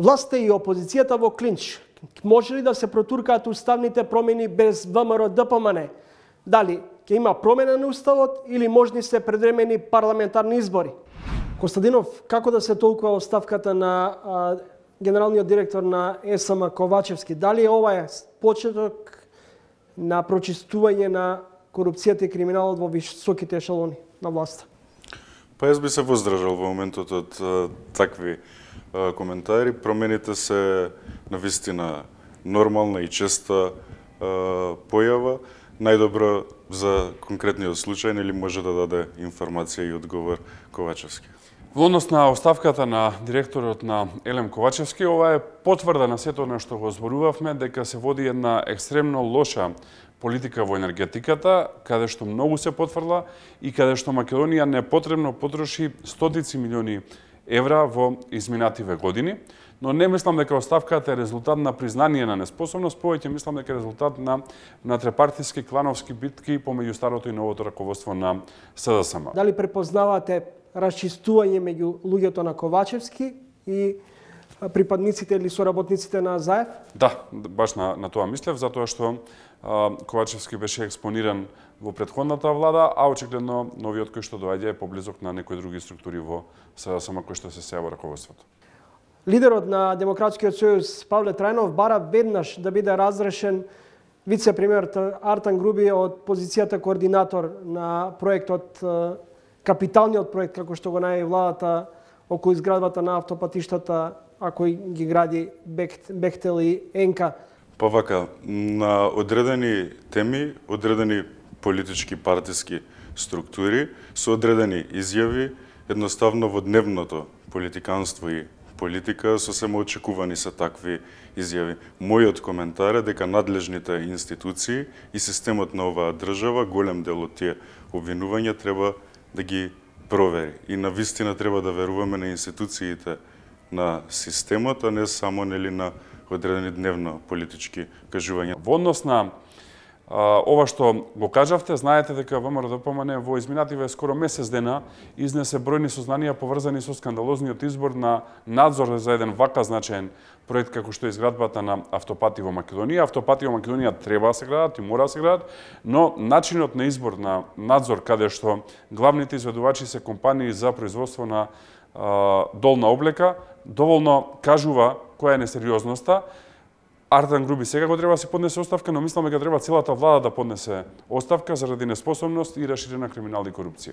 Власта и опозицијата во клинч. Може ли да се протуркаат уставните промени без ВМРО ДПМН? Дали ќе има промена на уставот или можни се предвремени парламентарни избори? Костадинов, како да се толкува оставката на генералниот директор на ЕСМ Ковачевски? Дали ова е почеток на прочистување на корупцијата и криминалот во високите ешелони на власта? Па јас би се воздржал во моментот од такви коментари. Промените се навистина нормална и честа појава. Најдобро за конкретниот случај или може да даде информација и одговор Ковачевски. Во однос на оставката на директорот на Елем Ковачевски, ова е потврда на сето на што го зборувавме, дека се води една екстремно лоша политика во енергетиката, каде што многу се потврдила и каде што Македонија непотребно потроши стотици милиони евра во изминативе години. Но не мислам дека оставката е резултат на признание на неспособност, повеќе мислам дека е резултат на натрепартиски клановски битки помеѓу старото и новото раководство на СДСМ. Дали препознавате расчистување меѓу луѓето на Ковачевски и припадниците или соработниците на Заев? Да, баш на тоа мислев, затоа што Ковачевски беше експониран во претходната влада, а очигледно новиот кој што доаѓа е поблизок на некои други структури во СДСМ кои што се сеја во раководството. Лидерот на Демократскиот сојуз Павле Трајнов бара веднаш да биде разрешен вице-премиерот Артан Груби од позицијата координатор на проектот, капиталниот проект, како што го најави владата околу изградбата на автопатиштата, ако ги гради Бехтел и Енка. Па вака, на одредени теми, одредени политички партиски структури, со одредени изјави, едноставно во дневното политиканство и политика сосема очекувани се такви изјави. Мојот коментар е дека надлежните институции и системот на оваа држава, голем дел од тие обвинувања треба да ги провери. И навистина треба да веруваме на институциите на системот, а не само на одредени дневно политички кажувања. Во однос на ова што го кажавте, знаете дека ВМРО ДПМН во изминативе скоро месец дена изнесе бројни сознанија поврзани со скандалозниот избор на надзор за еден вака значаен проект како што е изградбата на автопати во Македонија. Автопати во Македонија треба да се градат и мора да се градат, но начинот на избор на надзор каде што главните изведувачи се компании за производство на долна облека, доволно кажува која е несериозноста. Артан Груби сега го треба да се поднесе оставка, но мислам дека треба целата влада да поднесе оставка заради неспособност и раширена криминална корупција.